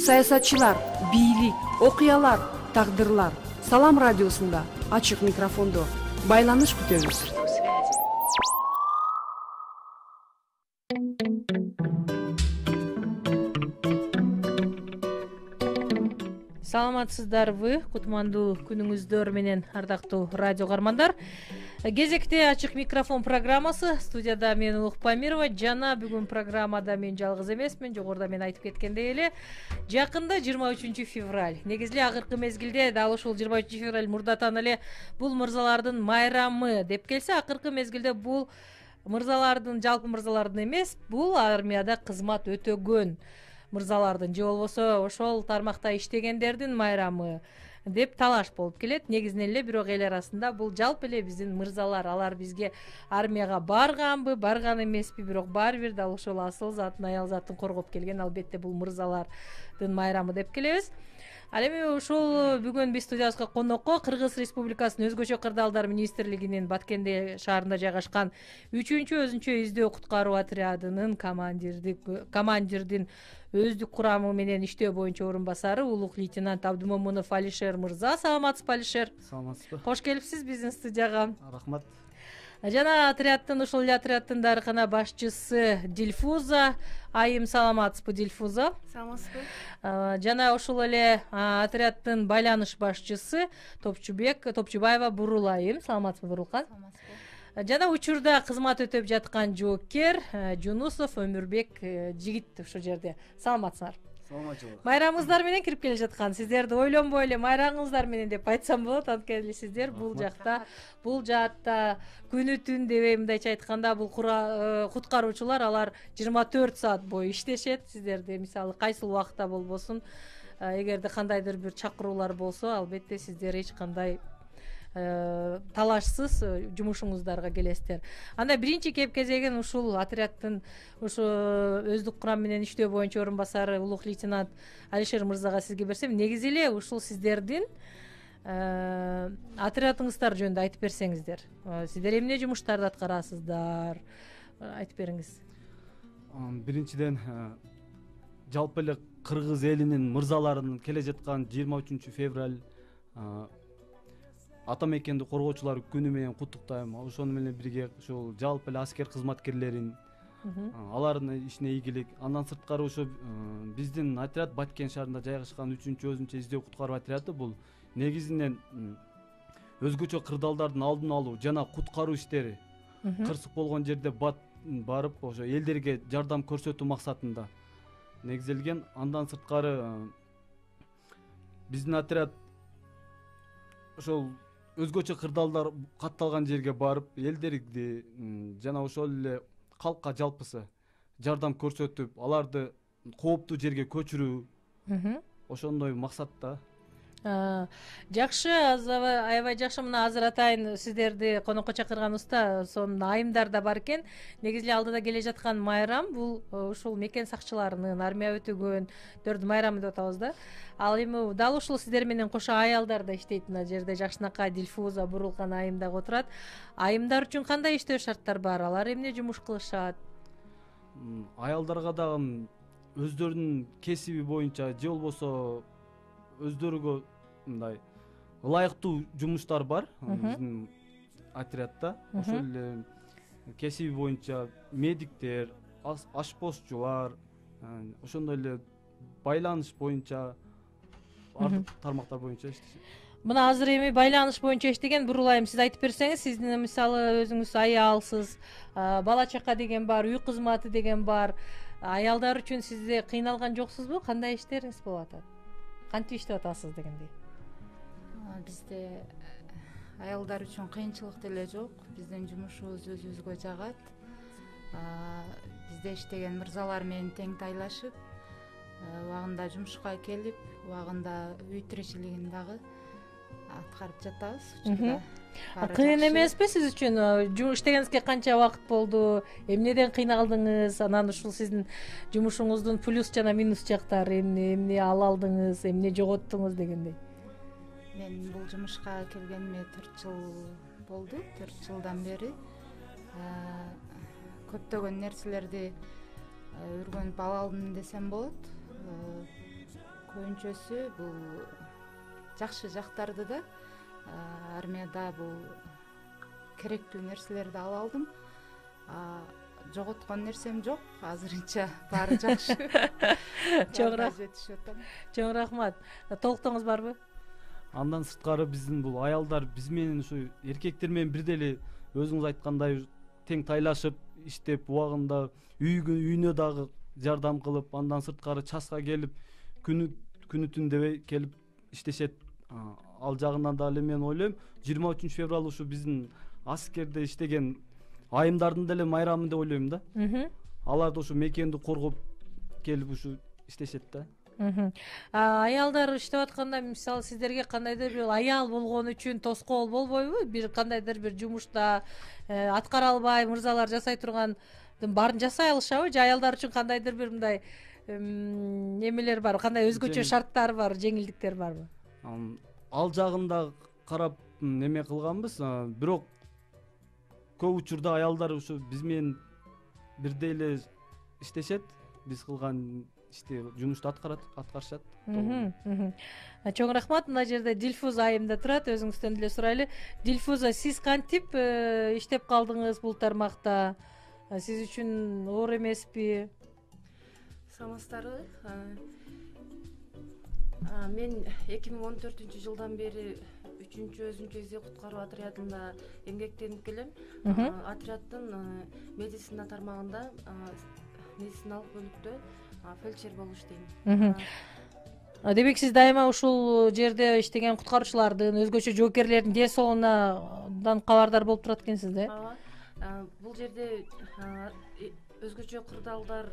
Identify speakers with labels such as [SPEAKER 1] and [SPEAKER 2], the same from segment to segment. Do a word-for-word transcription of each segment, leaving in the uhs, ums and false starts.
[SPEAKER 1] Саясатчылар, бийлик, окуялар, тагдырлар. Салам радиосунда ачык микрофондо байланыш күтөбүз.
[SPEAKER 2] Саламатсыздарбы? Кутмандуу күнүңүздөр менен, ардактуу радио каармандар. Кезекте ачык микрофон программасы. Студияда мен Улук Памирова. Жана бүгүн программада мен жалгыз эмесмин. Жогоруда мен айтып кеткендей эле, жакында жыйырма үчүнчү февраль. Негизи эле акыркы мезгилде дал ушул жыйырма үчүнчү февраль мурдатан эле бул мырзалардын майрамы деп келсе, акыркы мезгилде бул мырзалардын, жалпы мырзалардын эмес, бул армияда кызмат өтөгөн мырзалардын же болбосо ошол тармакта иштегендердин майрамы деп талаш болуп келет. Негизинен эле бирок эл арасында бул жалпы эле биздин мырзалар, алар бизге армияга барганбы, барган эмеспи, бирок баары бир дал ошол асыл затын, аял затын коргоп келген, албетте бул мырзалардын майрамы деп келебиз. Ал эми ушул бүгүн биз студиябызга конокко Кыргыз Республикасынын өзгөчө кырдаалдар министрлигинин Баткенде шаарында жайгашкан үчүнчү өзүнчө издөө куткаруу отрядынын командирди командирдин өздүк курамы менен иштөө боюнча орун басары улук лейтенант Абдымомунов Алишер мырза. Саламатсызбы, Алишер?
[SPEAKER 3] Саламатсызбы.
[SPEAKER 2] Кош келипсиз биздин студияга.
[SPEAKER 3] Рахмат.
[SPEAKER 2] Жана отрядтын, ушул эле отрядтын дарыкана башчысы Дилфуза айым. Саламатсызбы, Дилфуза?
[SPEAKER 4] Саламатсызбы.
[SPEAKER 2] Жана ушул эле отрядтын байланыш башчысы Топчубек Топчубаева Бурул айым. Саламатсызбы, Бурулкан?
[SPEAKER 4] Саламатсызбы.
[SPEAKER 2] Жана учурда кызмат өтөп жаткан жоокер Жунусов Өмүрбек жигит ушул жерде. Саламатсыздар?
[SPEAKER 3] Саламатчылык.
[SPEAKER 2] Майрамыңыздар менен кирип келе жаткан. Сиздерди ойлонбой эле майрамыңыздар менен деп айтсам болот. Анткени сиздер бул жакта, бул жаатта күнү түн дебей, мындайча айтканда, бул куткаруучулар алар жыйырма төрт саат бою иштешет. Сиздерди мисалы кайсыл убакта болбосун, эгерде кандайдыр бир чакыруулар болсо, албетте сиздер эч кандай талашсыз жумушуңуздарга келесиздер. Анда биринчи кеп кезегин ушул отрядтын ушу өздүк курам менен иштөө боюнча орун басары улук лейтенант Алишер мырзага сизге берсем, негизи эле ушул сиздердин отрядыңыздар жөнүндө айтып берсеңиздер. Сиздер эмне жумуштарды аткарасыздар? Айтып бериңиз.
[SPEAKER 3] Биринчиден, жалпы эле кыргыз элинин мырзаларынын келе жаткан жыйырма үчүнчү февраль ата мекенди коргоочулар күнү менен куттуктайм. Ошону менен бирге ушул жалпы эле аскер кызматкерлерин, алардын ишине ийгилик. Андан сырткары ошо биздин отряд Баткен шаарында жайгашкан үчүнчү өзүнчө издөө куткаруу отряды бул негизинен өзгөчө кырдаалдардын алдын алуу жана куткаруу иштери, кырсык болгон жерде барып ошо элдерге жардам көрсөтүү максатында негизделген. Андан сырткары биздин отряд ошол өзгөчө кырдаалдар катталган жерге барып элдерди жана ошол эле калкка жалпысы жардам көрсөтүп, аларды кооптуу жерге көчүрүү, ошондой максатта.
[SPEAKER 2] Жакшы, аябай жакшы. Мына азыр атайын сиздерди конокко чакырганыбызда сонун айымдар да бар экен. Негизи эле алдыда келе жаткан майрам бул ушул мекен сакчыларынын, армия өтөгөндөрдүн майрамы деп атабыз да. Ал эми дал ушул сиздер менен кошо аялдар да иштейт мына жерде. Жакшынакай Дилфуза, Бурулкан айым дагы отурат. Айымдар үчүн кандай иштөө шарттар бар? Алар эмне жумуш кылышат?
[SPEAKER 3] Аялдарга дагы өздөрүнүн кесиби боюнча же болбосо өздөрүгө мындай ылайыктуу жумуштар бар биздин отрядда. Ошол эле кесиби боюнча медиктер, ашпозчулар, ошондой эле байланыш боюнча, ардык тармактар боюнча иштешет.
[SPEAKER 2] Мына азыр эми байланыш боюнча иштеген Бурул айым, сиз айтып берсеңиз, сиздин мисалы өзүңүз аялсыз, бала чака деген бар, үй кызматы деген бар. Аялдар үчүн сизде кыйналган жоксузбу? Кандай иштериңиз болуп атат? Кантип иштеп атасыз дегендей?
[SPEAKER 4] Бизде аялдар үчүн кыйынчылык деле жок. Биздин жумушубуз өзүбүзгө жагат. Бизде иштеген мырзалар менен тең тайлашып, убагында жумушка келип, убагында үй тиричилигин дагы аткарып жатабыз. Учурда
[SPEAKER 2] кыйын эмеспи сиз үчүн? Иштегениңизге канча убакыт болду? Эмнеден кыйналдыңыз? Анан ушул сиздин жумушуңуздун плюс жана минус жактары эмне? Эмне ала алдыңыз, эмне жоготтуңуз дегендей?
[SPEAKER 4] Мен бул жумушка келгениме төрт жыл болду. төрт жылдан бери көптөгөн нерселерди өргөнүп ала алдым десем болот. көбүнчөсү бул жакшы жактарды да армияда бул керектүү нерселерди ала алдым. Жоготкон нерсем жок, азырынча баары жакшы.
[SPEAKER 2] Чоң рахмат. Толуктооңуз барбы?
[SPEAKER 3] Андан сырткары биздин бул аялдар биз менен ушу эркектер менен бирдей эле өзүңүз айткандай тең тайлашып иштеп убагында үйүнө дагы жардам кылып, андан сырткары часка келип күнү күнү түн дебей келип иштешет. Ал жагынан да эле мен ойлойм жыйырма үчүнчү февраль ушу биздин аскерде иштеген айымдардын деле майрамы деп ойлойм да. Алар да ушу мекенди коргоп келип ушу иштешет да.
[SPEAKER 2] Аялдар иштеп атканда мисалы сиздерге кандайдыр бир аял болгон үчүн тоскоол болбойбу? Бир кандайдыр бир жумушта аткара албай мырзалар жасай тургандын баарын жасай алышабы? Же аялдар үчүн кандайдыр бир мындай немелер бар, кандай өзгөчө шарттар бар, жеңилдиктер барбы?
[SPEAKER 3] Ал жагында карап неме кылганбыз, бирок көп учурда аялдар ушу биз менен бирдей эле иштешет, биз кылган ишти жумушту аткарышат.
[SPEAKER 2] Чоң рахмат. Мына жерде Дилфуза айым да турат, өзүңүздөн деле сурайлы. Дилфуза, сиз кантип иштеп калдыңыз бул тармакта? Сиз үчүн оор эмеспи?
[SPEAKER 1] Саламатсыздарбы? Мен эки миң он төртүнчү жылдан бери үчүнчү өзүнчө издөө куткаруу отрядында эмгектенип келем. Отряддын медицина тармагында медициналык бөлүктө фельдшер болуп иштейм.
[SPEAKER 2] Демек сиз дайыма ушул жерде иштеген куткаруучулардын, өзгөчө жоокерлердин ден соолугунан кабардар болуп турат экенсиз да?
[SPEAKER 1] Ооба. Бул жерде өзгөчө кырдаалдар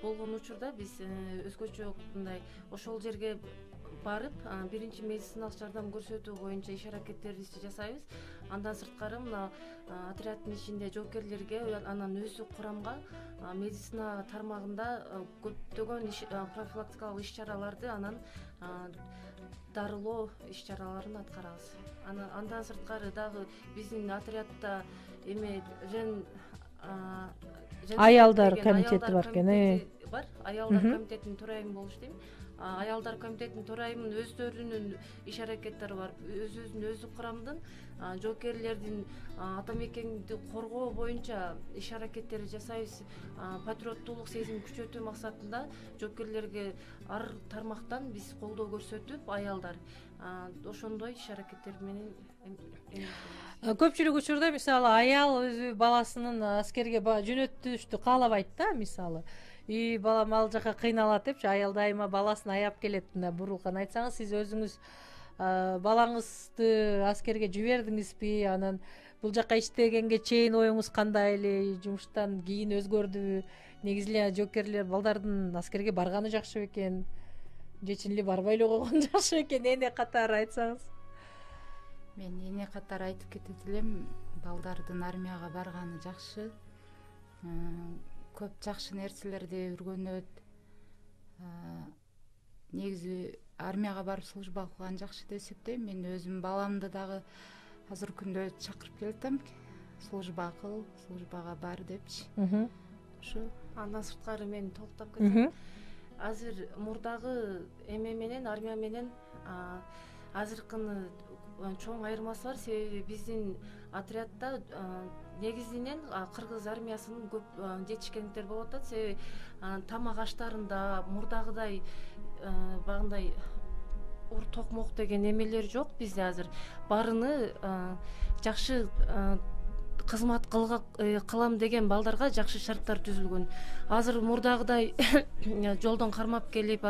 [SPEAKER 1] болгон учурда биз өзгөчө мындай ошол жерге барып биринчи медициналык жардам көрсөтүү боюнча иш аракеттерибизди жасайбыз. Андан сырткары мына отряддын ичинде жоокерлерге анан өзү курамга медицина тармагында көптөгөн профилактикалык иш чараларды анан дарылоо иш чараларын аткарабыз. Андан сырткары дагы биздин отрядда эме жен
[SPEAKER 2] аялдар комитети бар экен.
[SPEAKER 1] Бар. Аялдар комитетинин төрайымы болуп иштейм. Аялдар комитетинин төрайымынын өздөрүнүн иш аракеттери бар. Өз-өзүн өзү курамдын жоокерлердин ата мекенди коргоо боюнча иш аракеттерди жасайбыз. Патриоттуулук сезимин күчөтүү максатында жоокерлерге ар тармактан биз колдоо көрсөтүп, аялдар ошондой иш аракеттер менен.
[SPEAKER 2] Көпчүлүк учурда мисалы аял өзү баласынын аскерге жөнөтүштү каалабайт да, мисалы. И балам ал жака кыйналат депчи, аял дайыма баласын аяп келет. Мына бурулкан айтсаңыз, сиз өзүңүз балаңызды аскерге жибердиңизби? Анан бул жака иштегенге чейин оюңуз кандай эле? Жумуштан кийин өзгөрдүбү? Негизи эле жоокерлер балдардын аскерге барганы жакшы бекен? Же чын эле барбай эле койгон жакшы бекен? Эне катары айтсаңыз.
[SPEAKER 4] Мен эне катары айтып кетет элем, балдардын армияга барганы жакшы. Көп жакшы нерселерди үйрөнөт. Негизи армияга барып служба кылган жакшы деп эсептейм. Мен өзүм баламды дагы азыр күндө чакырып келатам. Служба кыл, службага бар депчи. Ушу.
[SPEAKER 1] Андан сырткары мен толуктап кетсем, азыр мурдагы эме менен армия менен азыркыны чоң айырмасы бар. Себеби биздин отрядда негизинен кыргыз армиясынын көп жетишкендиктер болуп атат. Себеби тамак аштарында мурдагыдай багындай ур токмок деген эмелер жок бизде азыр. Барыны жакшы кызмат кылам деген балдарга жакшы шарттар түзүлгөн. Азыр мурдагыдай жолдон кармап келип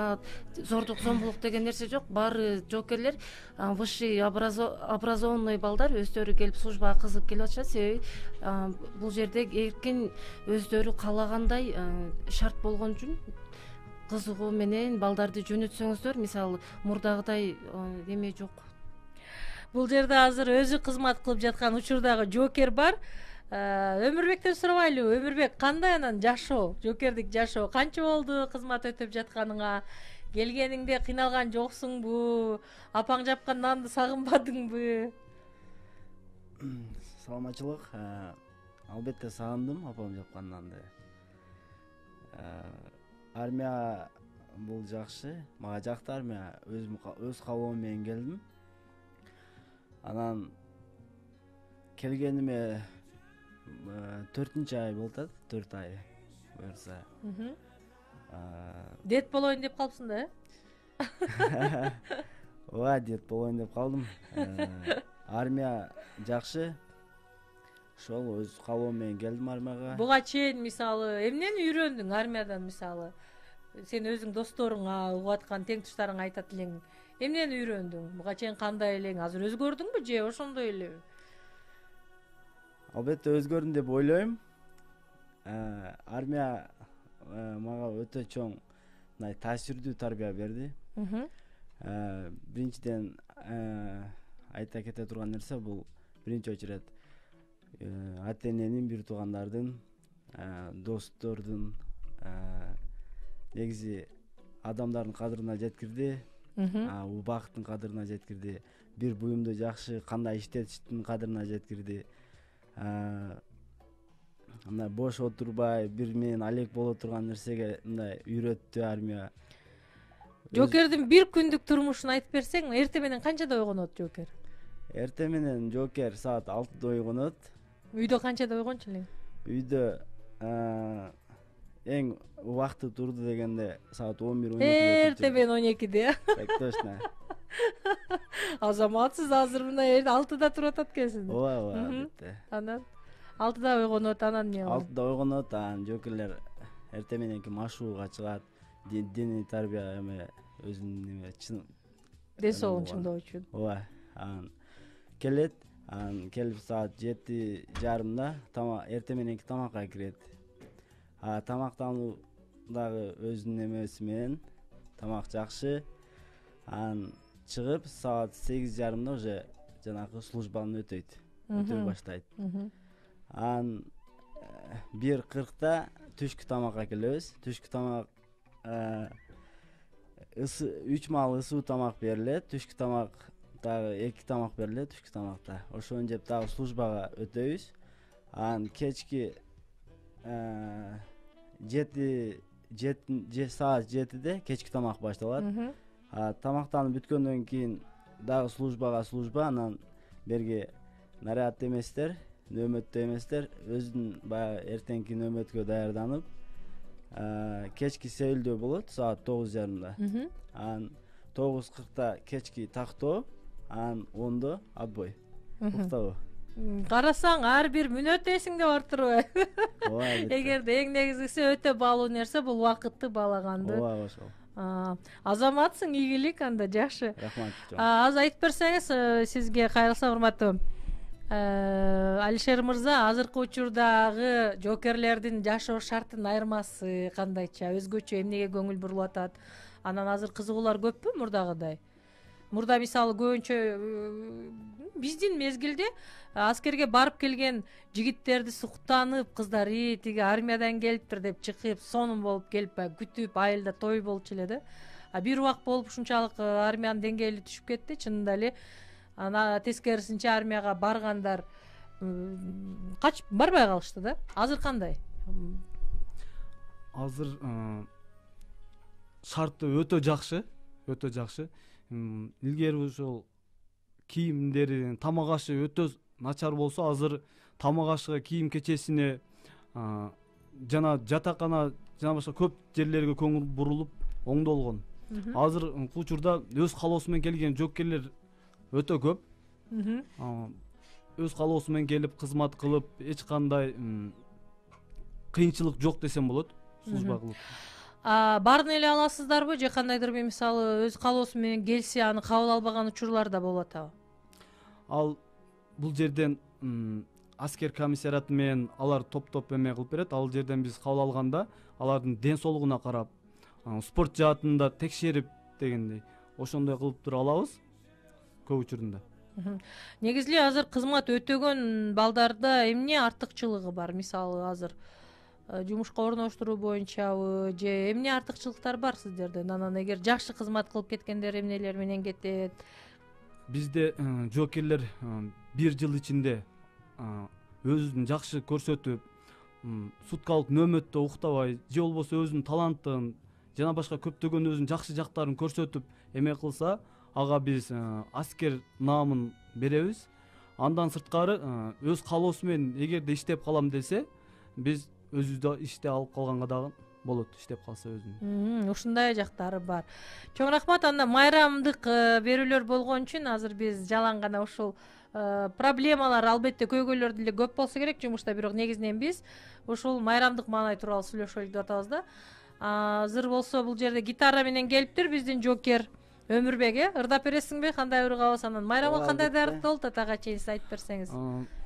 [SPEAKER 1] зордук зомбулук деген нерсе жок. Баары жоокерлер высший образованный балдар өздөрү келип службага кызыгып келип атышат. Себеби бул жерде эркин өздөрү каалагандай шарт болгон үчүн кызыгуу менен балдарды жөнөтсөңүздөр, мисалы мурдагыдай эме жок.
[SPEAKER 2] Бул жерде азыр өзү кызмат кылып жаткан учурдагы жоокер бар. Өмүрбектен сурабайлыбы? Өмүрбек, кандай анан жашоо, жоокердик жашоо? Канча болду кызмат өтүп жатканыңа? Келгениңде кыйналган жоксуңбу? Апаң жапкан нанды сагынбадыңбы?
[SPEAKER 5] Саламатчылык. Албетте сагындым апам жапкан нанды. Армия бул жакшы, мага жакты армия. Өзүм өз каалоом менен келдим. Анан келгениме төртүнчү ай болуп атат, төрт ай буюрса.
[SPEAKER 2] Дет болоюн деп калыпсың да, э?
[SPEAKER 5] Ооба, дет болоюн деп калдым. Армия жакшы. Ошол өз каалоом менен келдим армияга.
[SPEAKER 2] Буга чейин мисалы эмнени үйрөндүң армиядан? Мисалы сен өзүң досторуңа, угуп аткан тең туштарыңа айтат элең, эмнени үйрөндүң? Буга чейин кандай элең? Азыр өзгөрдүңбү же ошондой элеби?
[SPEAKER 5] Албетте өзгөрдүм деп ойлойм. Армия мага өтө чоң мындай таасирдүү тарбия берди. Биринчиден айта кете турган нерсе бул биринчи очередь ата эненин, бир туугандардын, достордун, негизи адамдардын кадырына жеткирди, убакыттын кадырына жеткирди, бир буюмду жакшы кандай иштетиштин кадырына жеткирди. Мындай бош отурбай, бир менен алек боло турган нерсеге мындай үйрөттү армия.
[SPEAKER 2] Жоокердин бир күндүк турмушун айтып берсең, эртең менен канчада ойгонот Жоокер?
[SPEAKER 5] Эртең менен Жоокер саат алтыда ойгонот.
[SPEAKER 2] Үйдө канчада ойгончу элең?
[SPEAKER 5] Үйдө эң убакыты турду дегенде саат он бир он экиде.
[SPEAKER 2] Эртең менен он экиде.
[SPEAKER 5] Так точно.
[SPEAKER 2] Азаматсыз азыр мына алтыда туруп атат экенсиң.
[SPEAKER 5] Ооба, ооба, албетте.
[SPEAKER 2] Анан алтыда ойгонот, анан эмне кылат?
[SPEAKER 5] алтыда ойгонот, анан Жоокерлер эртең мененки машыгууга чыгат. Диний тарбия эме өзүнүн неме чын
[SPEAKER 2] ден соолугун чыңдоо үчүн.
[SPEAKER 5] Ооба. Анан келет, анан келип саат жети жарымда тамак эртең мененки тамакка кирет. А тамактануу дагы өзүнүн эмеси менен тамак жакшы. Анан чыгып саат сегиз жарымда уже жанагы службаны өтөйт. Өтөй баштайт. Анан бир кыркта түшкү тамакка келебиз. Түшкү тамак үч маал ысуу тамак берилет. Түшкү тамак дагы эки тамак берилет түшкү тамакта. Ошону жеп дагы службага өтөбүз. Анан кечки жети саат жетиде кечки тамак башталат. Тамактанып бүткөндөн кийин дагы службага служба, анан берги наряд эместер, нөөмөттө эместер өзүнүн баягы эртеңки нөөмөткө даярданып, кечки сейилдөө болот саат тогуз жарымда. Анан тогуз кыркта кечки тактоо, анан ондо отбой. Уктабоо.
[SPEAKER 2] Карасаң ар бир мүнөт эсиңде бар турбайбы?
[SPEAKER 5] Ооба.
[SPEAKER 2] Эгерде эң негизгиси өтө баалуу нерсе бул убакытты баалаганды.
[SPEAKER 5] Ооба, ошол.
[SPEAKER 2] Азаматсың, ийгилик анда, жакшы.
[SPEAKER 5] Рахмат.
[SPEAKER 2] Аз айтып берсеңиз, сизге кайрылсам, урматтуу Алишер мырза, азыркы учурдагы жоокерлердин жашоо шартынын айырмасы кандайча, өзгөчө эмнеге көңүл бурулуп атат? Анан азыр кызыгуулар көппү мурдагыдай? Мурда мисалы көбүнчө биздин мезгилде аскерге барып келген жигиттерди суктанып, кыздары тиги армиядан келиптир деп чыгып, сонун болуп келип, күтүп, айылда той болчу эле да. А бир убак болуп ушунчалык армиянын деңгээли түшүп кетти, чынында эле. Ана тескерисинче армияга баргандар качып барбай калышты да. Азыр кандай?
[SPEAKER 3] Азыр шарты өтө жакшы, өтө жакшы. Илгери ошол кийимдери, тамак ашы өтө начар болсо, азыр тамак ашыга, кийим кечесине жана жатакана жана башка көп жерлерге көңүл бурулуп оңдолгон. Азыр учурда өз каалоосу менен келген жоокерлер өтө көп. Өз каалоосу менен келип кызмат кылып, эч кандай кыйынчылык жок десем болот. Служба кылып.
[SPEAKER 2] Баарын эле аласыздарбы же кандайдыр бир мисалы өз каалоосу менен келсе аны кабыл албаган учурлар да болуп атабы?
[SPEAKER 3] Ал бул жерден аскер комиссариаты менен алар топ-топ эме кылып берет. Ал жерден биз кабыл алганда алардын ден соолугуна карап, спорт жаатында текшерип дегендей, ошондой кылып тура алабыз көп учурунда.
[SPEAKER 2] Негизи азыр кызмат өтөгөн балдарда эмне артыкчылыгы бар? Мисалы азыр жумушка орноштуруу боюнчабы же эмне артыкчылыктар бар сиздерден? Анан эгер жакшы кызмат кылып кеткендер эмнелер менен кетет?
[SPEAKER 3] Бизде жоокерлер бир жыл ичинде өзүн жакшы көрсөтүп, суткалык нөөмөттө уктабай, же болбосо өзүнүн талантын жана башка көптөгөн өзүнүн жакшы жактарын көрсөтүп эме кылса, ага биз аскер наамын беребиз. Андан сырткары өз каалоосу менен эгерде иштеп калам десе, биз өзүбүздү иште алып калганга дагы болот, иштеп калса өзүнүн.
[SPEAKER 2] Ушундай жактары бар. Чоң рахмат. Анда майрамдык берүүлөр болгон үчүн азыр биз жалаң гана ушул проблемалар албетте көйгөйлөр деле көп болсо керек жумушта, бирок негизинен биз ушул майрамдык маанай тууралуу сүйлөшөлүк деп атабыз да. Азыр болсо бул жерде гитара менен келиптир биздин жокер Өмүрбек, э? Ырдап бересиңби? Кандай ыргабыз? Анан майрамга кандай даярдыкталды атага чейин сиз айтып берсеңиз.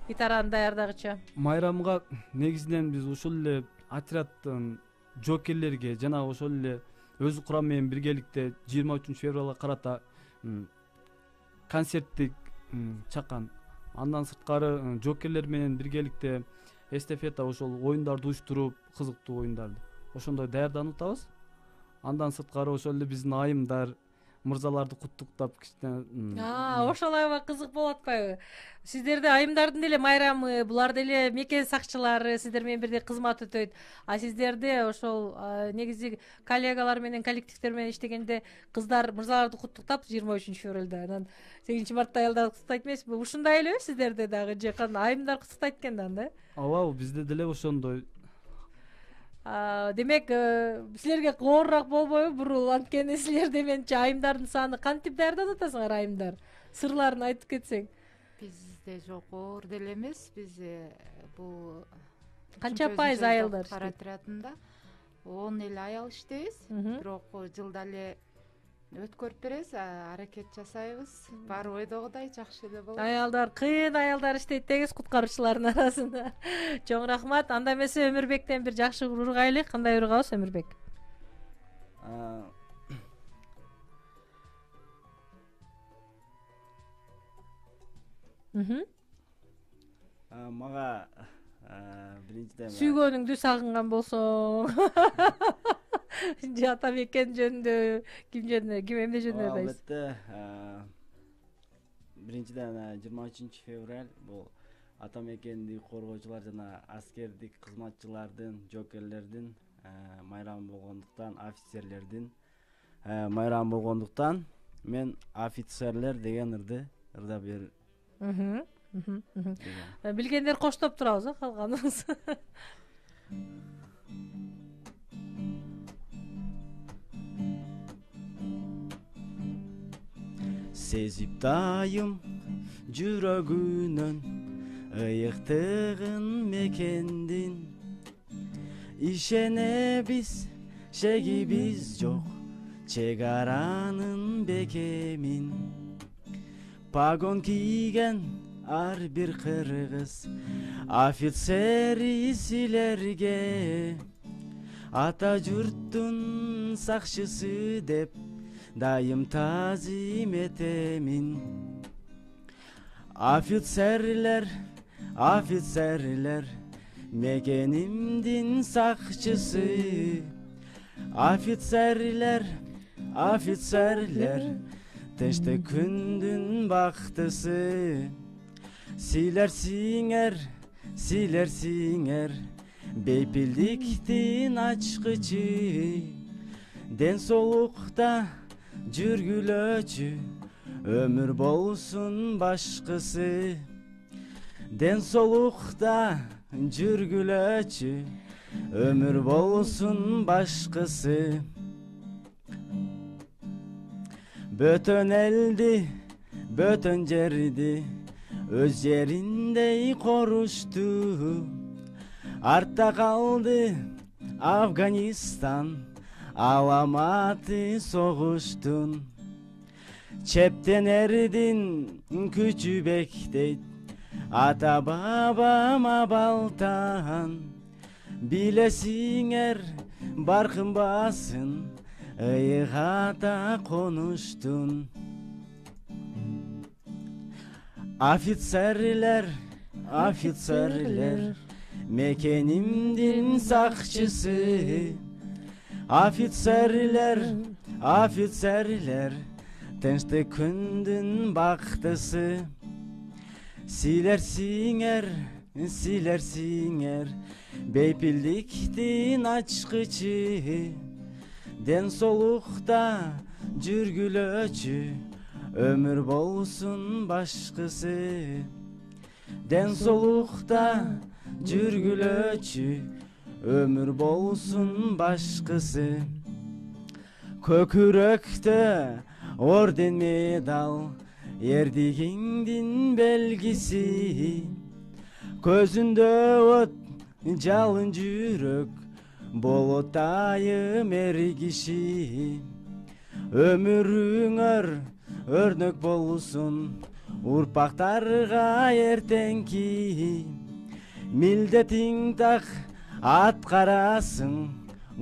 [SPEAKER 2] Гитараны даярдагыча.
[SPEAKER 3] Майрамга негизинен биз ушул эле отрядтын жокерлерге жана ошол эле өз курам менен биргеликте жыйырма үчүнчү февралга карата концерттик чакан. Андан сырткары жокерлер менен биргеликте эстафета ошол оюндарды уюштуруп, кызыктуу оюндарды ошондой даярданып атабыз. Андан сырткары ошол эле биздин айымдар мырзаларды куттуктап кичине.
[SPEAKER 2] Ошол аябай кызык болуп атпайбы? Сиздерде айымдардын деле майрамы, булар деле мекен сакчылары, сиздер менен бирдей кызмат өтөйт. А сиздерде ошол негизи коллегалар менен, коллективдер менен иштегенде кыздар мырзаларды куттуктап жыйырма үчүнчү февралда, анан сегизинчи мартта аялдар куттуктайт эмеспи? Ушундай элеби сиздерде дагы, же кандай айымдар куттуктайт экен да?
[SPEAKER 3] Ооба, бизде деле ошондой.
[SPEAKER 2] Демек, силерге оорураак болбойбу бурул? Анткени силерде менчи айымдардын саны кантип даярданып атасыңар айымдар? Сырларын айтып кетсең.
[SPEAKER 4] Бизде жок, оор деле эмес. Биз бул
[SPEAKER 2] канча пайыз аялдар
[SPEAKER 4] иштейт? Отрядында он эле аял иштейбиз. Бирок жылда эле өткөрүп беребиз, аракет жасайбыз. Баары ойдогудай жакшы эле болот.
[SPEAKER 2] Аялдар, кыйын аялдар иштейт дегиз куткаруучулардын арасында. Чоң рахмат. Анда эмесе Өмүрбектен бир жакшы ургайлы. Кандай ургабыз Өмүрбек?
[SPEAKER 5] Мага биринчиден
[SPEAKER 2] сүйгөнүңдү сагынган болсоң, же ата мекен жөнүндө, ким жөнүндө, ким эмне жөнүндө айтасыз?
[SPEAKER 5] Албетте, биринчиден жыйырма үчүнчү февраль бул ата мекенди коргоочулар жана аскердик кызматчылардын, жокерлердин майрамы болгондуктан, офицерлердин майрамы болгондуктан мен офицерлер деген ырды ырдап бер.
[SPEAKER 2] Билгендер коштоп турабыз, калганыбыз.
[SPEAKER 5] Сезип дайым жүрөгүнөн ыйыктыгын мекендин, ишенебиз шегибиз жок чек аранын бекемин. Пагон кийген ар бир кыргыз офицери силерге ата журттун сакчысы деп дайым тазим этемин. Офицерлер, офицерлер, мекенимдин сакчысы. Офицерлер, офицерлер, тынчтык күндүн бактысы. Силер сиңер, силер сиңер, бейпилдиктин ачкычы. Ден соолукта жүргүлөчү, өмүр болсун башкысы. Ден соолукта жүргүлөчү, өмүр болсун башкысы. Бөтөн элди, бөтөн жерди өз жериндей корушту. Артта калды Афганистан, аламаты согуштун. Чептенердин күчү бектейт, ата бабама балтан. Билесиңер бар кымбасын, ыйыгата конуштун. Офицерлер, офицерлер, мекенимдин сакчысы. Офицерлер, офицерлер, тынчтык күндүн бактысы. Силер сиңер, силер сиңер, бейпилдиктин ачкычы. ден соолукта жүргүлөчү өмүр болсун башкысы. Ден соолукта жүргүлөчү өмүр болсун башкысы. Көкүрөктө орден медал эрдигиңдин белгиси. Көзүндө от жалын жүрөк болот айым эр киши. Өмүрүңөр өрнөк болсун урпактарга эртеңки. Милдетиң так аткарасың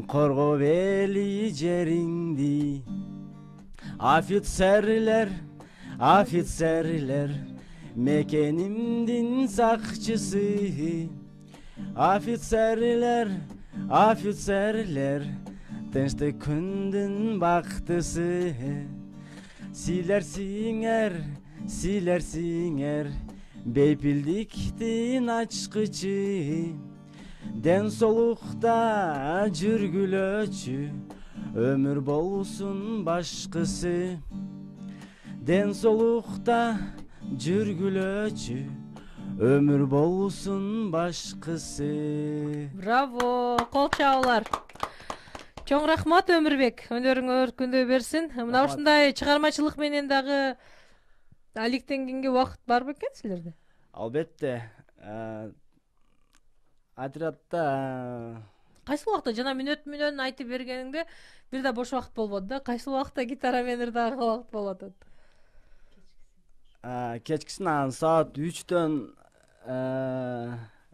[SPEAKER 5] коргоп эли жериңди. Офицерлер, офицерлер, мекенимдин сакчысы. Офицерлер, офицерлер, тынчтык күндүн бактысы. Силерсиңер, силерсиңер, бейпилдиктин ачкычы. Ден соолукта жүргүлөчү өмүр болсун башкысы. Ден соолукта жүргүлөчү өмүр болсун башкысы.
[SPEAKER 2] Браво, кол чабуулар. Чоң рахмат Өмүрбек, өнөрүңөр өркүндөй берсин. Мына ушундай чыгармачылык менен дагы алектенгенге убакыт бар бекен силерде?
[SPEAKER 5] Албетте. Отрядда
[SPEAKER 2] кайсы убакта жана мүнөт мүнөн айтып бергениңде бир да бош убакыт болбоду да, кайсы убакта гитара менен дагы убакыт болуп атат?
[SPEAKER 5] Кечкисин анан саат үчтөн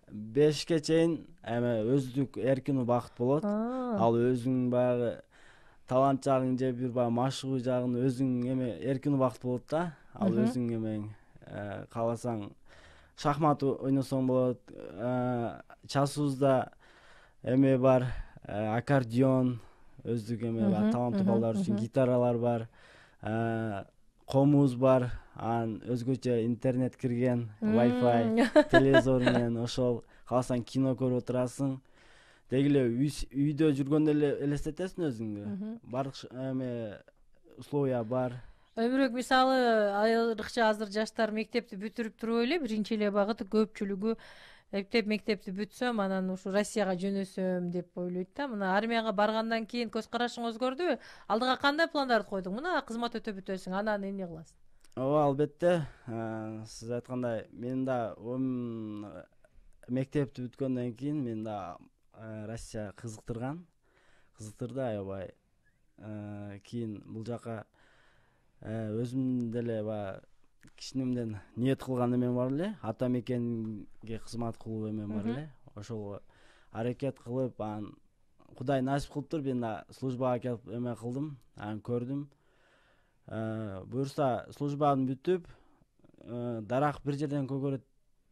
[SPEAKER 5] бешке чейин эме өздүк эркин убакыт болот. Ал өзүң баягы талант жагың же бир баягы машыгуу жагын өзүң эме эркин убакыт болот да. Ал өзүң эмең кааласаң шахмат ойносоң болот. Часыбызда эме бар, аккордеон, өздүк эме бар, таланттуу балдар үчүн гитаралар бар, комуз бар, анан өзгөчө интернет кирген, Wi-Fi, телевизор менен ошол кааласаң кино көрүп отурасың. Деги эле үйдө жүргөндө эле элестетесиң өзүңдү. Бардык эме условия бар.
[SPEAKER 2] Өмүрбек, мисалы, айрыкча азыр жаштар мектепти бүтүрүп туруп эле биринчи эле багыты көпчүлүгү эптеп мектепти бүтсөм, анан ушу Россияга жөнөсөм деп ойлойт да. Мына армияга баргандан кийин көз карашың өзгөрдүбү? Алдыга кандай пландарды койдуң? Мына кызмат өтөп бүтөсүң, анан эмне кыласың?
[SPEAKER 5] Ооба, албетте. Сиз айткандай, мен да мектепти бүткөндөн кийин мен да Россия кызыктырган. Кызыктырды аябай. Кийин бул жака өзүм деле баягы кичинемден ниет кылган эмем бар эле, ата мекенге кызмат кылуу эмем бар эле. Ошого аракет кылып, анан Кудай насип кылыптыр, мен да службага келип эме кылдым, анан көрдүм. Буюрса службаны бүтүп, дарак бир жерден көгөрөт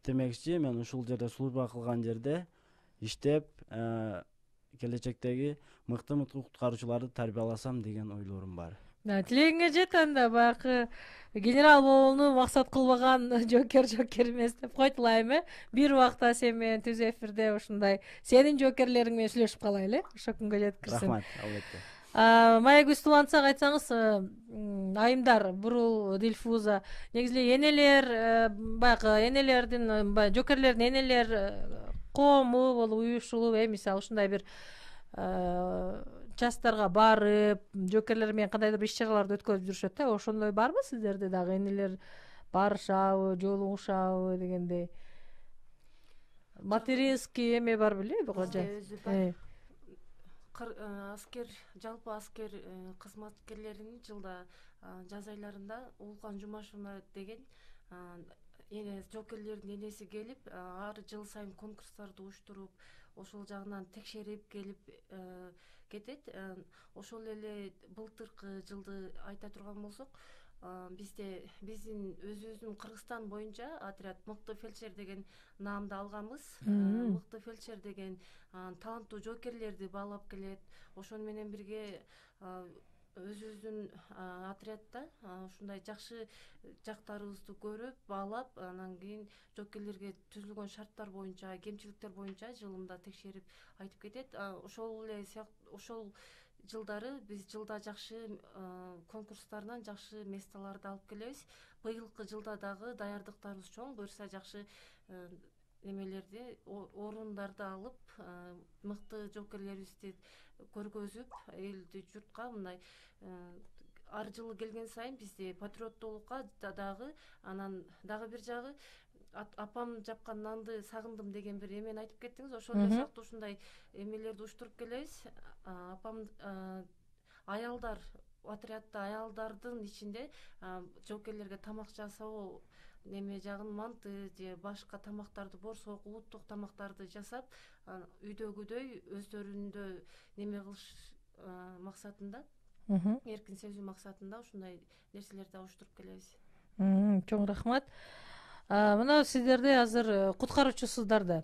[SPEAKER 5] демекчи, мен ушул жерде служба кылган жерде иштеп, келечектеги мыкты-мыкты куткаруучуларды тарбияласам деген ойлорум бар.
[SPEAKER 2] Тилегиңе жет анда, баягы генерал болууну максат кылбаган жокер жокер эмес деп койтулайм, э? Бир убакта сен менен түз эфирде ушундай сенин жокерлериң менен сүйлөшүп калайлы, ошо күнгө жеткирсин.
[SPEAKER 5] Рахмат, албетте.
[SPEAKER 2] Маягүл Улантсак, айтсаңыз, айымдар, Бурул, Дилфуза, негизи энелер, баягы энелердин, жокерлердин энелер коому болуп, уюшулуп, э, мисалы ушундай бир частарга барып, жокерлер менен кандайдыр бир иш-чараларды өткөрүп жүрүшөт да. Ошондой барбы сиздерде дагы? Энелер барышабы, жолугушабы дегендей? Материнский эме бар беле?
[SPEAKER 1] Өзү бар. Аскер, жалпы аскер кызматкерлеринин жылда жаз айларында Улукан Жумашевна деген жокерлердин энеси келип, ар жыл сайын конкурстарды уюштуруп, ошол жагынан текшерип келип кетет. Ошол эле былтыркы жылды айта турган болсок, бизде биздин өзүбүздүн Кыргызстан боюнча отряд мыкты фельдшер деген наамды алганбыз. Мыкты фельдшер деген таланттуу жокерлерди баалап келет. Ошону менен бирге өзүбүздүн отрядда ушундай жакшы жактарыбызды көрүп, баалап, анан кийин жокерлерге түзүлгөн шарттар боюнча, кемчиликтер боюнча жылында текшерип айтып кетет. Ошол эле ошол жылдары биз жылда жакшы конкурстардан жакшы местолорду алып келебиз. Быйылкы жылда дагы даярдыктарыбыз чоң, буюрса жакшы немелерди, орундарды алып, мыкты жоокерлерибизди көргөзүп, элди журтка мындай ар жылы келген сайын бизде патриоттуулукка дагы, анан дагы бир жагы апам жапкан нанды сагындым деген бир эмени айтып кеттиңиз. Ошол эле сыяктуу ушундай эмелерди уюштуруп келебиз. Апам аялдар, отрядда аялдардын ичинде жоокерлерге тамак жасоо неме жагын, манты же башка тамактарды, борсок, улуттук тамактарды жасап, үйдөгүдөй өздөрүндө неме кылыш максатында, эркин сезүү максатында ушундай нерселерди уюштуруп келебиз.
[SPEAKER 2] Чоң рахмат. Мына сиздерде азыр куткаруучусуздар да.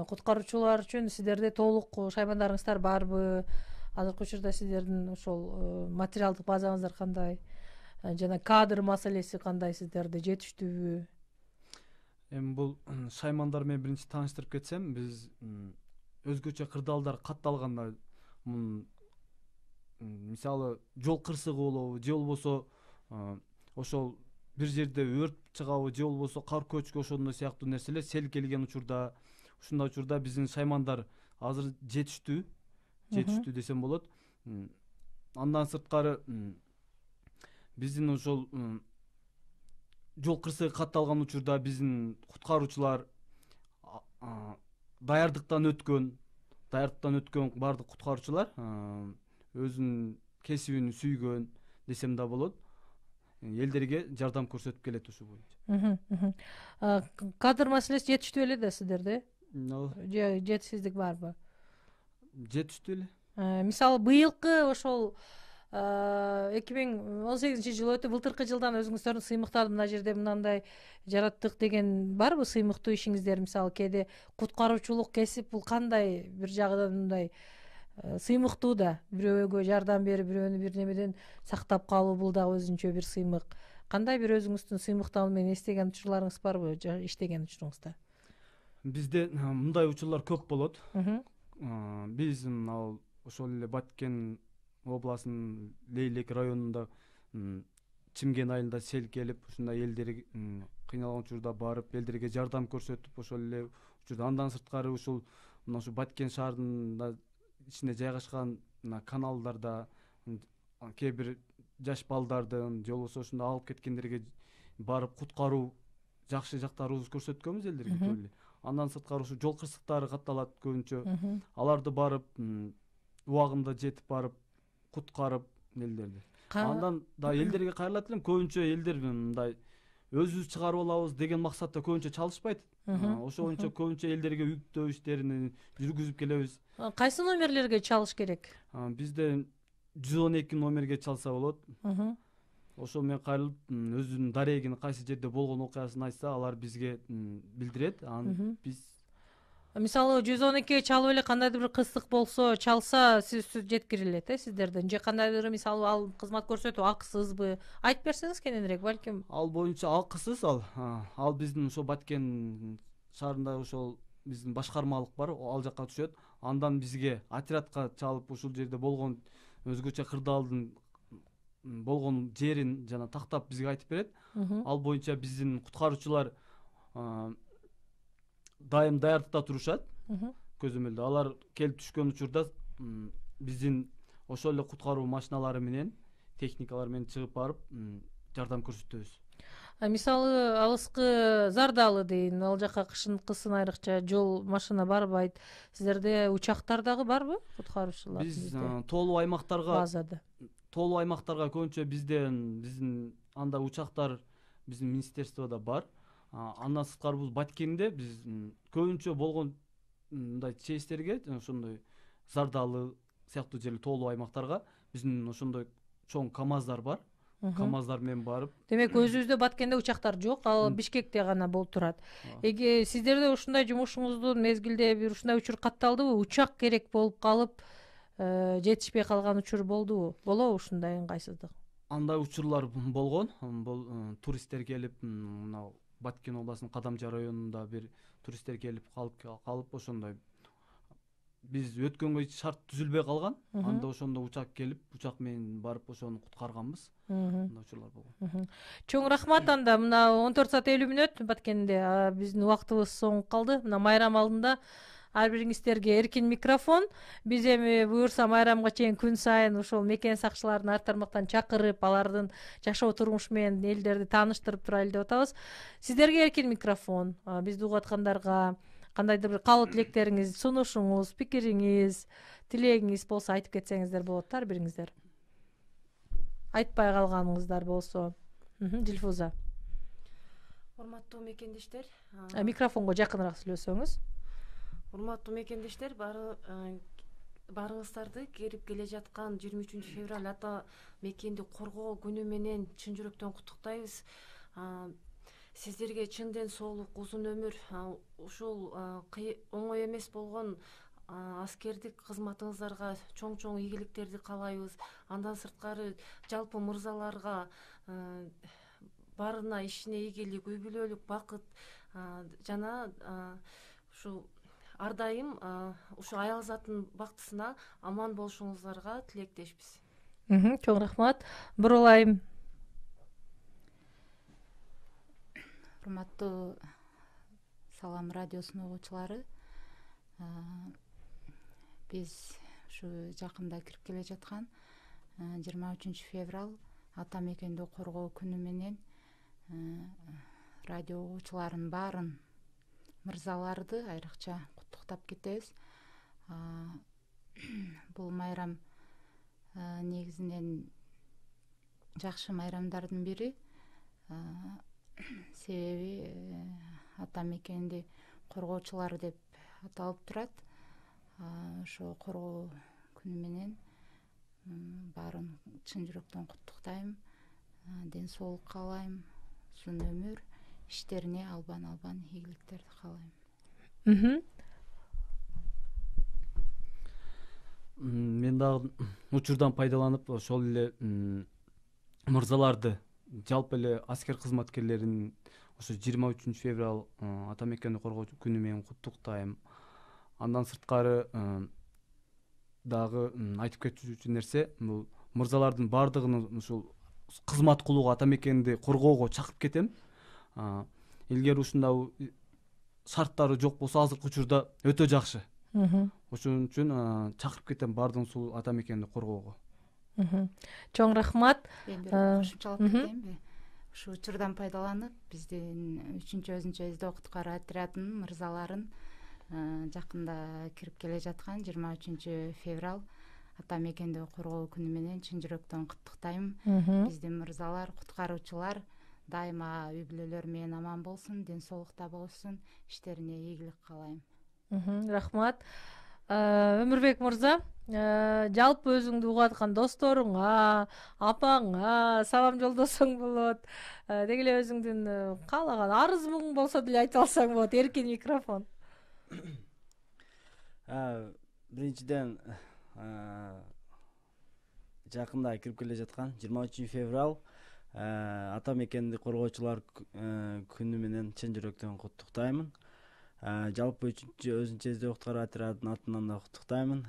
[SPEAKER 2] Куткаруучулар үчүн сиздерде толук шаймандарыңыздар барбы? Азыркы учурда сиздердин ошол материалдык базаңыздар кандай? Жана кадр маселеси кандай, сиздерде жетиштүүбү?
[SPEAKER 3] Эми бул шаймандар менен биринчи тааныштырып кетсем, биз өзгөчө кырдаалдар катталганда, мисалы жол кырсыгы болобу, же болбосо ошол бир жерде өрт чыгабы, же болбосо кар көчкү, ошондой сыяктуу нерселер сел келген учурда, ушундай учурда биздин шаймандар азыр жетиштүү, жетиштүү десем болот. Андан сырткары биздин ошол жол кырсыгы катталган учурда биздин куткаруучулар даярдыктан өткөн, даярдыктан өткөн бардык куткаруучулар өзүнүн кесибин сүйгөн десем да болот. Элдерге жардам көрсөтүп келет ушу боюнча.
[SPEAKER 2] Кадр маселеси жетиштүү эле да сиздерде? Же жетишсиздик барбы?
[SPEAKER 3] Жетиштүү эле.
[SPEAKER 2] Мисалы быйылкы ошол эки миң он сегизинчи жыл өтүп, былтыркы жылдан өзүңүздөрдүн сыймыктарды мына жерде мындай жараттык деген барбы? Сыймыктуу ишиңиздер, мисалы кээде куткаруучулук кесип бул кандай бир жагынан мындай сыймыктуу да, бирөөгө жардам берип, бирөөнү бир немеден сактап калуу, бул дагы өзүнчө бир сыймык. Кандай бир өзүңүздүн сыймыктар менен эстеген учурларыңыз барбы, иштеген учуруңузда?
[SPEAKER 3] Бизде мындай учурлар көп болот. Биз ал ошол эле Баткен областынын Лейлек районунда Чимген айылында сел келип, ушундай элдер кыйналган учурда барып, элдерге жардам көрсөтүп, ошол эле учурда андан сырткары ушул мына ушу Баткен шаарында ичинде жайгашкан каналдарда кээ бир жаш балдардын же болбосо ушундай алып кеткендерге барып куткаруу жакшы жактарыбызды көрсөткөнбүз элдерге. Андан сырткары ушу жол кырсыктары катталат көбүнчө. Аларды барып убагында жетип барып куткарып элдерди. Андан да элдерге кайрылат элем, көбүнчө элдер мындай өзүбүз чыгарып алабыз деген максатта көбүнчө чалышпайт. Ошо боюнча көбүнчө элдерге үгүттөө иштерин жүргүзүп келебиз.
[SPEAKER 2] Кайсы номерлерге чалыш керек?
[SPEAKER 3] Бизде жүз он эки номерге чалса болот. Ошол менен кайрылып, өзүнүн дарегин, кайсы жерде болгон окуясын айтса, алар бизге билдирет. Анан биз
[SPEAKER 2] мисалы жүз он экиге чалып эле кандайдыр бир кыстык болсо, чалса сиз жеткирилет, э, сиздерден. Же кандайдыр мисалы ал кызмат көрсөтүү акысызбы? Айтып берсеңиз кененирээк, балким.
[SPEAKER 3] Ал боюнча акысыз ал. Ал биздин ошо Баткен шаарында ошол биздин башкармалык бар, ал жакка түшөт. Андан бизге отрядка чалып, ушул жерде болгон өзгөчө кырдаалдын болгон жерин жана тактап бизге айтып берет. Ал боюнча биздин куткаруучулар дайым даярдыкта турушат. Көзөмөлдө алар келип түшкөн учурда биздин ошол эле куткаруу машиналары менен, техникалар менен чыгып барып жардам көрсөтөбүз.
[SPEAKER 2] Мисалы алыскы Зардалы дейин, ал жака кышын кысын айрыкча жол машина барбайт. Сиздерде учактар дагы барбы, куткаруучулар?
[SPEAKER 3] Биз тоолуу аймактарга
[SPEAKER 2] базада
[SPEAKER 3] тоолуу аймактарга көбүнчө бизден биздин анда учактар биздин министерствода бар. Андан сырткары бул Баткенде биз көбүнчө болгон мындай чеестерге, ошондой Зардалы сыяктуу жерлер тоолуу аймактарга биздин ошондой чоң КАМАЗдар бар. КАМАЗдар менен барып.
[SPEAKER 2] Демек өзүбүздө Баткенде учактар жок, ал Бишкекте гана болуп турат. Эге сиздерде ушундай жумушуңуздун мезгилде бир ушундай учур катталдыбы? Учак керек болуп калып, жетишпей калган учур болдубу? Болобу ушундай ыңгайсыздык?
[SPEAKER 3] Андай учурлар болгон. Бул туристтер келип, мына Баткен областынын Кадамжа районунда бир туристтер келип калып калып ошондой биз өткөнгө эч шарт түзүлбөй калган. Анда ошондо учак келип, учак менен барып ошону куткарганбыз. Мындай учурлар болгон.
[SPEAKER 2] Чоң рахмат. Анда мына он төрт саат элүү мүнөт баткенде биздин убактыбыз соңуп калды. Мына майрам алдында ар бириңиздерге эркин микрофон. Биз эми буюрса майрамга чейин күн сайын ошол мекен сакчыларын ар тармактан чакырып, алардын жашоо турмушу менен элдерди тааныштырып турайлы деп атабыз. Сиздерге эркин микрофон. Бизди угуп аткандарга кандайдыр бир каалоо тилектериңиз, сунушуңуз, пикириңиз, тилегиңиз болсо айтып кетсеңиздер болот да, ар бириңиздер. Айтпай калганыңыздар болсо. Дилфуза.
[SPEAKER 1] Урматтуу мекендештер,
[SPEAKER 2] микрофонго жакыныраак сүйлөсөңүз.
[SPEAKER 1] Урматтуу мекендештер, баарыңыздарды кирип келе жаткан жыйырма үчүнчү февраль ата мекенди коргоо күнү менен чын жүрөктөн куттуктайбыз. Сиздерге чын ден соолук, узун өмүр, ушул оңой эмес болгон аскердик кызматыңыздарга чоң-чоң ийгиликтерди каалайбыз. Андан сырткары жалпы мырзаларга баарына ишине ийгилик, үй бүлөлүк бакыт жана ушу ар дайым ушу аял заттын бактысына аман болушуңуздарга тилектешпиз.
[SPEAKER 2] Чоң рахмат. Бурулайым.
[SPEAKER 4] Урматтуу Салам радиосунун угуучулары, биз ушу жакында кирип келе жаткан жыйырма үчүнчү февраль ата мекенди коргоо күнү менен радио угуучуларын баарын, мырзаларды айрыкча куттуктап кетебиз. Бул майрам негизинен жакшы майрамдардын бири. Себеби ата мекенди коргоочулар деп аталып турат. Ошо коргоо күнү менен баарын чын жүрөктөн куттуктайм, ден соолук каалайм, узун өмүр, иштерине албан-албан ийгиликтерди каалайм.
[SPEAKER 3] Мен дагы учурдан пайдаланып ошол эле мырзаларды, жалпы эле аскер кызматкерлерин ошо жыйырма үчүнчү февраль ата мекенди коргоо күнү менен куттуктайм. Андан сырткары дагы айтып кетүүчү нерсе, бул мырзалардын баардыгын ушул кызмат кылууга, ата мекенди коргоого чакырып кетем. Илгери ушундай шарттары жок болсо азыркы учурда өтө жакшы. Ошон үчүн чакырып кетем баардыгын ушул ата мекенди коргоого.
[SPEAKER 2] Чоң рахмат.
[SPEAKER 4] Кошумчалап кетейинби? Ушу учурдан пайдаланып, биздин үчүнчү өзүнчө издөө куткаруу отрядынын мырзаларын жакында кирип келе жаткан жыйырма үчүнчү февраль ата мекенди коргоо күнү менен чын жүрөктөн куттуктайм. Биздин мырзалар, куткаруучулар дайыма үй бүлөлөрү менен аман болсун, ден соолукта болушун, иштерине ийгилик каалайм.
[SPEAKER 2] Рахмат. Өмүрбек мырза, жалпы өзүңдү угуп аткан досторуңа, апаңа салам жолдосоң болот. Деги эле өзүңдүн каалаган арыз муң болсо деле айтып алсаң болот. Эркин микрофон.
[SPEAKER 5] Биринчиден жакында кирип келе жаткан жыйырма үчүнчү февраль ата мекенди коргоочулар күнү менен чын жүрөктөн куттуктаймын. Жалпы үчүнчү өзүнчө издөө куткаруу отрядынын атынан да куттуктаймын.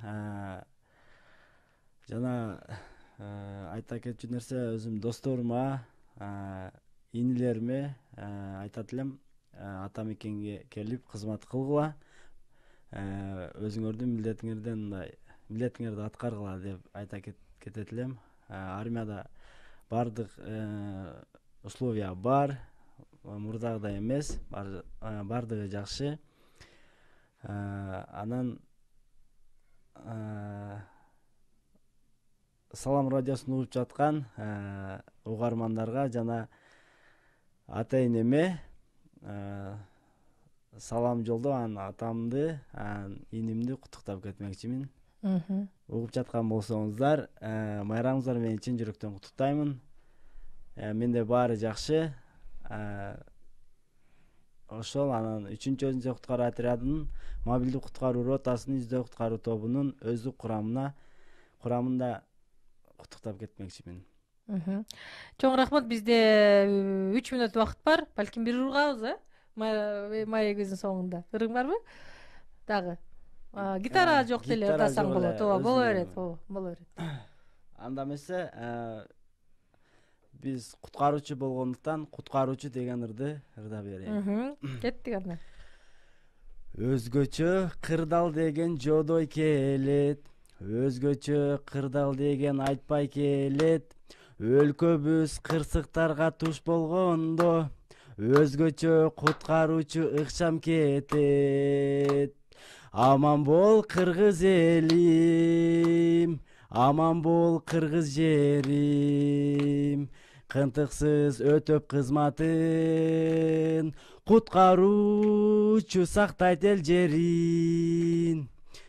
[SPEAKER 5] Жана айта кетчү нерсе, өзүм досторума, инилериме айтат элем, ата мекенге келип кызмат кылгыла, өзүңөрдүн милдетиңерден мындай милдетиңерди аткаргыла деп айта кетет элем. Армияда баардык условия бар, мурдагыдай эмес, баардыгы жакшы. Анан Салам радиосун угуп жаткан угармандарга жана ата энеме салам жолдоп, анан атамды, анан инимди куттуктап кетмекчимин. Угуп жаткан болсоңуздар, майрамыңыздар менен чын жүрөктөн куттуктаймын. Менде баары жакшы. Ошол анан үчүнчү өзүнчө куткаруу отрядынын мобилдик куткаруу ротасынын издөө куткаруу тобунун өздүк курамына курамында куттуктап кетмекчимин.
[SPEAKER 2] Чоң рахмат. Бизде үч мүнөт убакыт бар. Балким бир ыргабыз, э? Маегибиздин соңунда. Ырың барбы? Дагы. гитара жок деле
[SPEAKER 5] Гитара
[SPEAKER 2] ырдасаң
[SPEAKER 5] жок
[SPEAKER 2] болот.
[SPEAKER 5] эле,
[SPEAKER 2] ооба боло
[SPEAKER 5] өзүнө.
[SPEAKER 2] берет, ооба боло берет.
[SPEAKER 5] Анда эмесе биз куткаруучу болгондуктан куткаруучу деген ырды ырдап берейин.
[SPEAKER 2] Кеттик анда.
[SPEAKER 5] Өзгөчө кырдал деген жодой келет, өзгөчө кырдал деген айтпай келет. Өлкөбүз кырсыктарга туш болгондо, өзгөчө куткаруучу ыкчам кетет. Аман бол кыргыз элим, аман бол кыргыз жерим, кынтыксыз өтөп кызматын, куткаруучу сактайт эл жерин.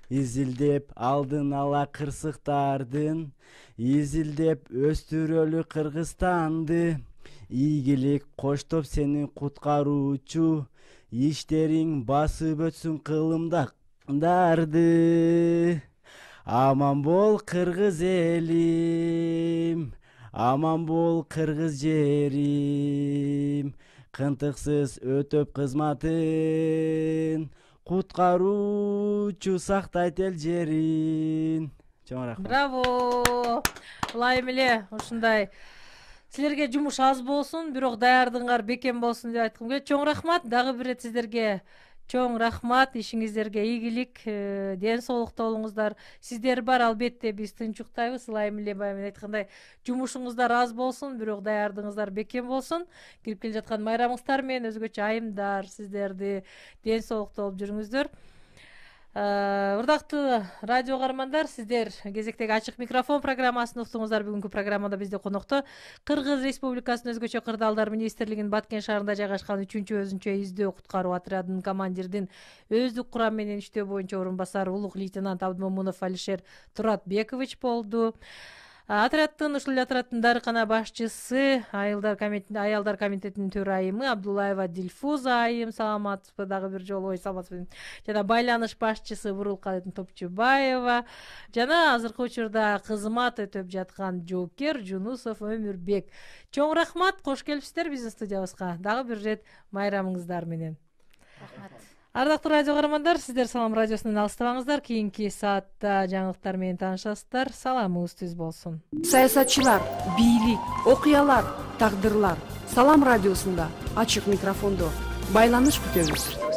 [SPEAKER 5] Изилдеп алдын ала кырсыктардын, изилдеп өстүрөлү Кыргызстанды. Ийгилик коштоп сени куткаруучу, иштериң басып өтсүн кылымдарды. Аман бол кыргыз элим, аман бол кыргыз жерим, кынтыксыз өтөп кызматын, куткаруучу сактайт эл жерин. Чоң рахмат.
[SPEAKER 2] Браво. Ылайым эле ушундай силерге жумуш аз болсун, бирок даярдыгыңар бекем болсун деп айткым келет. Чоң рахмат. Дагы бир рет сиздерге чоң рахмат. Ишиңиздерге ийгилик, ден соолукта болуңуздар. Сиздер бар, албетте биз тынчуктайбыз. Ылайым эле байым айткандай, жумушуңуздар аз болсун, бирок даярдыгыңыздар бекем болсун. Кирип келе жаткан майрамыңыздар менен өзгөчө айымдар сиздерди ден соолукта болуп жүрүңүздөр. Урдактуу радио каармандар, сиздер кезектеги ачык микрофон программасын уктуңуздар. Бүгүнкү программада бизде конокто Кыргыз Республикасынын өзгөчө кырдаалдар министрлигинин Баткен шаарында жайгашкан үчүнчү өзүнчө издөө куткаруу отрядынын командирдин өздүк курам менен иштөө боюнча орун басары улук лейтенант Абдымомунов Алишер Туратбекович болду. Отрядтын ушул отрядтын дарыкана башчысы, айылдар комитетинин аялдар комитетинин төрайымы Абдулаева Дилфуза айым, саламатсызбы, дагы бир жолу ой саламатсызбы. Жана байланыш башчысы Бурулкадын Топчубаева, жана азыркы учурда кызмат өтөп жаткан жоокер Жунусов Өмүрбек. Чоң рахмат, кош келипсиздер биздин студиябызга. Дагы бир рет майрамыңыздар менен.
[SPEAKER 4] Рахмат.
[SPEAKER 2] Ардактуу радио каармандар, сиздер Салам радиосунан алыстабаңыздар. Кийинки саатта жаңылыктар менен таанышасыздар. Саламыңыз түз болсун.
[SPEAKER 6] Саясатчылар, бийлик, окуялар, тагдырлар. Салам радиосунда ачык микрофондо байланыш күтөбүз.